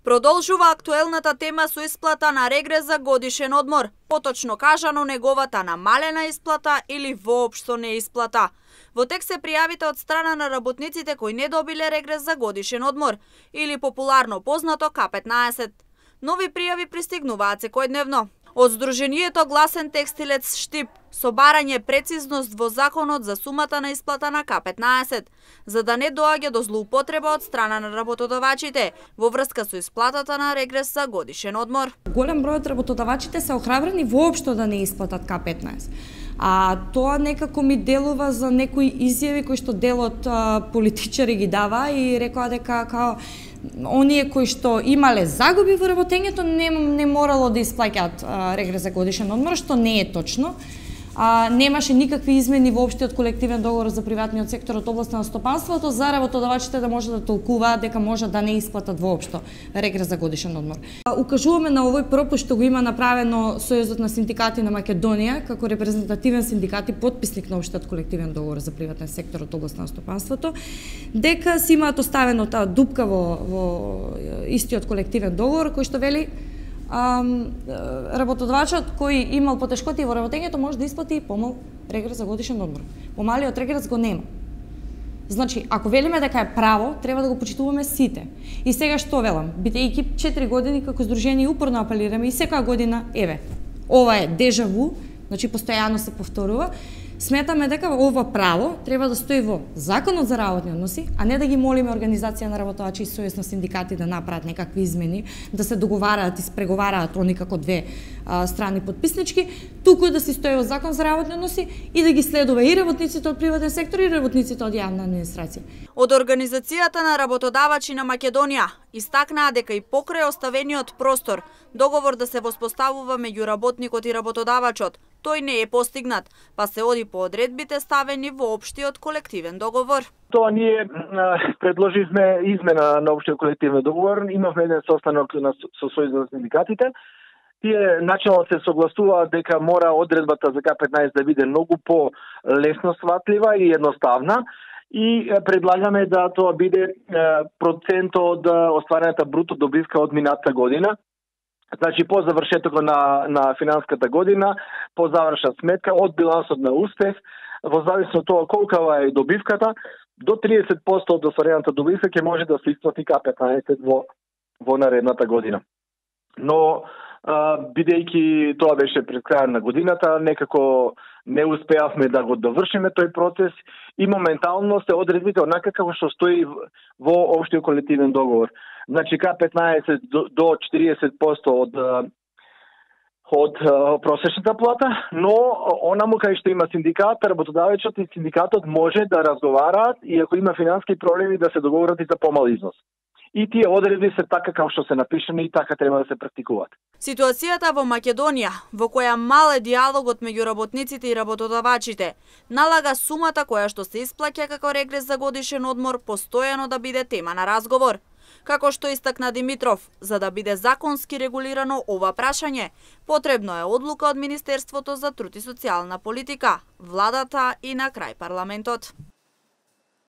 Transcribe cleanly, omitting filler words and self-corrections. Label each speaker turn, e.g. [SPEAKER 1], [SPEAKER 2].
[SPEAKER 1] Продолжува актуелната тема со исплата на регрес за годишен одмор, поточно кажано неговата намалена исплата или воопшто неисплата. Во текст се пријавите од страна на работниците кои не добиле регрес за годишен одмор, или популарно познато К15. Нови пријави пристигнуваат секојдневно. Од Сдруженијето Гласен текстилец Штип со барање прецизност во законот за сумата на исплата на К15, за да не доаѓа до злоупотреба од страна на работодавачите во врска со исплатата на регрес за годишен одмор.
[SPEAKER 2] Голем број од работодавачите се охрабрени воопшто да не исплатат К15. А тоа некако ми делува за некои изјави кои што дел од политичари ги дава и рекоа дека као оние кои што имале загуби во работењето не морало да исплаќаат регрес за годишен одмор, што не е точно. Немаше никакви измени во општиот колективен договор за приватниот сектор од областа на стопанството за работодавачите да може да толкуваат дека може да не исплатат воопшто регрес за годишен одмор. Укажуваме на овој пропуст што го има направено Сојузот на синдикати на Македонија како репрезентативен синдикат и потписник на општиот колективен договор за приватен сектор од областа на стопанството, дека си имаат оставено таа дупка во истиот колективен договор кој што вели работодавачот кој имал потешкоти во работењето може да исплати помал регрес за годишен одмор. Помалиот регрес го нема. Значи, ако велиме дека е право, треба да го почитуваме сите. И сега што велам? Бидејќи 4 години како здружение упорно апелираме и секоја година, ова е дежаву, значи постојано се повторува, сметаме дека ова право треба да стои во Законот за работни односи, а не да ги молиме Организација на работодачи и Сојуз на синдикати да направат некакви измени, да се договараат и спреговараат они како две страни потписнички, туку да се стои во Закон за работни односи и да ги следува и работниците од приватен сектор и работниците од јавна администрација.
[SPEAKER 1] Од Организацијата на работодавачи на Македонија истакнаа дека и покрај оставениот простор договор да се воспоставува меѓу работникот и работодавачот, тој не е постигнат, па се оди по одредбите ставени во општиот колективен договор.
[SPEAKER 3] Тоа ние предложивме измена на општиот колективен договор, имавме еден состанок со Сојузот на синдикатите. Тие начално се согласуваат дека мора одредбата за К15 да биде многу по-лесно сватлива и едноставна и предлагаме да тоа биде процент од остварената бруто добивка од минатата година. Значи, по завршетокот на финанската година, по завршна сметка, од билансот на успех, во зависност од тоа колкава е добивката, до 30% од остварената добивка ќе може да се исплати К15 во наредната година. Но, бидејќи тоа беше пред крајот на годината, некако не успеавме да го довршиме тој процес и моментално се одредбите онака како што стои во општиот колективен договор. Значи К15 до 40% од просечната плата, но онаму кај што има синдикат, работодавачот и синдикатот може да разговараат и ако има финански проблеми да се договорат и за помал износ. И тие одредби се така како што се напишани и така треба да се практикуваат.
[SPEAKER 1] Ситуацијата во Македонија, во која мал е диалогот меѓу работниците и работодавачите, налага сумата која што се исплаќа како регрес за годишен одмор постојано да биде тема на разговор. Како што истакна Димитров, за да биде законски регулирано ова прашање, потребно е одлука од Министерството за труд и социјална политика, владата и на крај парламентот.